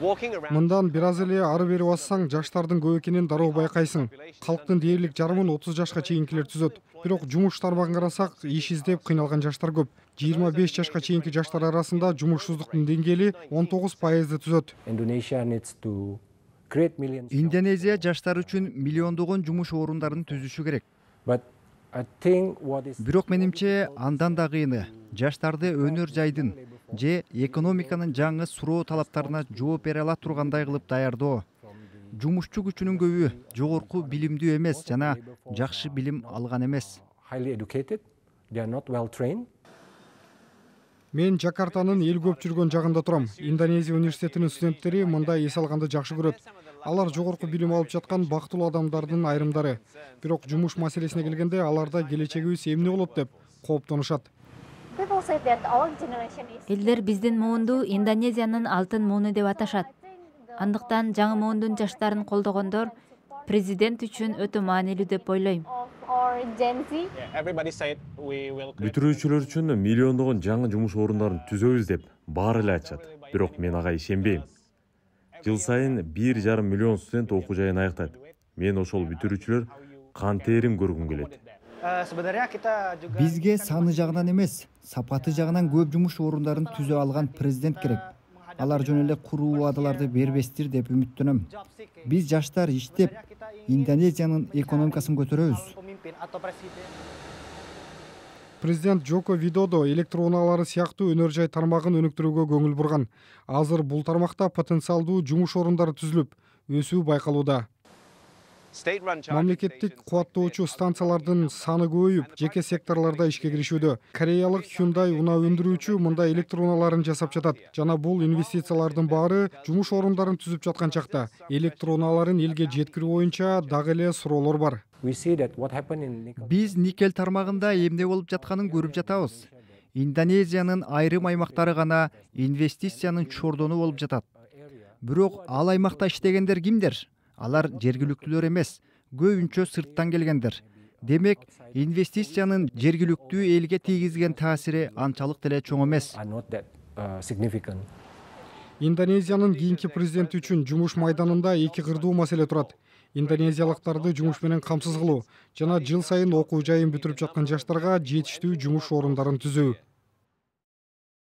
Мындан бир аз эле ары бери бассаң, жаштардын көп экенин дароо байкайсың. Калктын дээрлик жарымын 30 жашка чейинкилер түзөт. Бирок жумуш тармагын карасак, иш издеп кыйналган жаштар көп. 25 жашка чейинки жаштар арасында жумушсуздуктун деңгээли 19% түзөт. Индонезия жаштар үчүн миллиондогон жумуш орундарын түзүшү керек. Бирок менимче андан да кыйыны жаштарды өнөр жайдын же экономиканын жаңы суроо талаптарына жооп бере ала тургандай кылып даярдоо. Жумушчу күчүнүн көбү жогорку билимдүү эмес жана жакшы билим алган эмес. Мен Жакартанын эл көп жүргөн жагында турам. Индонезия университетинин студенттери мындай эс алганды жакшы көрөт. Алар жогорку билим алып жаткан бактылуу адамдардын айрымдары. Бирок жумуш маселесине келгенде аларда келечегибиз эмне болот деп кооптонушат. Элдер биздин муунду Индонезиянын алтын мууну деп аташат. Андыктан жаңы муундун жаштарын колдогондор президент үчүн өтө маанилүү деп ойлойм. Бүтүрүүчүлөр үчүн миллиондогон жаңы жумуш орундарын түзөбүз деп баары эле айтышат. Бирок мен ага ишенбейм. Жыл сайын 1,5 миллион студент окуу жайын аяктайт. Мен ошол бүтүрүүчүлөр кантерин көргүм келет. Бизге саны жагынан эмес, сапаты жагынан көп жумуш орундарын түзө алган президент керек. Алар жөн эле куруу убадаларды бербестир деп үмүттөнөм. Биз жаштар иштеп, Индонезиянын экономикасын көтөрөбүз. Президент Жoko Видодо электроунаалары сыяктуу өнөр жай тармагын өнүктүрүүгө көңүл бурган. Азыр бул тармакта потенциалдуу жумуш орундары түзүлүп, өсүү байкалууда. Мамлекеттик кубаттоочу станциялардын саны көбөйүп, жеке секторлордо ишке киришүүдө. Кореялык Hyundai унаа өндүрүүчү мындай электроунааларын жасап жатат. Жана бул инвестициялардын баары жумуш орундарын түзүп жаткан чакта. Электроунааларын элге жеткирүү боюнча дагы эле суроолор бар. Биз никель тармагында эмне болуп жатканын көрүп жатабыз. Индонезиянын айрым аймактары гана инвестициянын чордону болуп жатат. Бирок ал аймакта иштегендер кимдер? Алар жергиликтүүлөр эмес, көбүнчө сырттан келгендер. Демек, инвестициянын жергиликтүү элге тийгизген таасири анчалык деле чоң эмес. Индонезиянын кийинки президенти үчүн жумуш майданында эки кырдуу маселе турат. Индонезиялыктарды жумуш менен камсыз кылуу жана жыл сайын окуу жайын бүтүрүп жаткан жаштарга жетиштүү жумуш орундарын түзүү.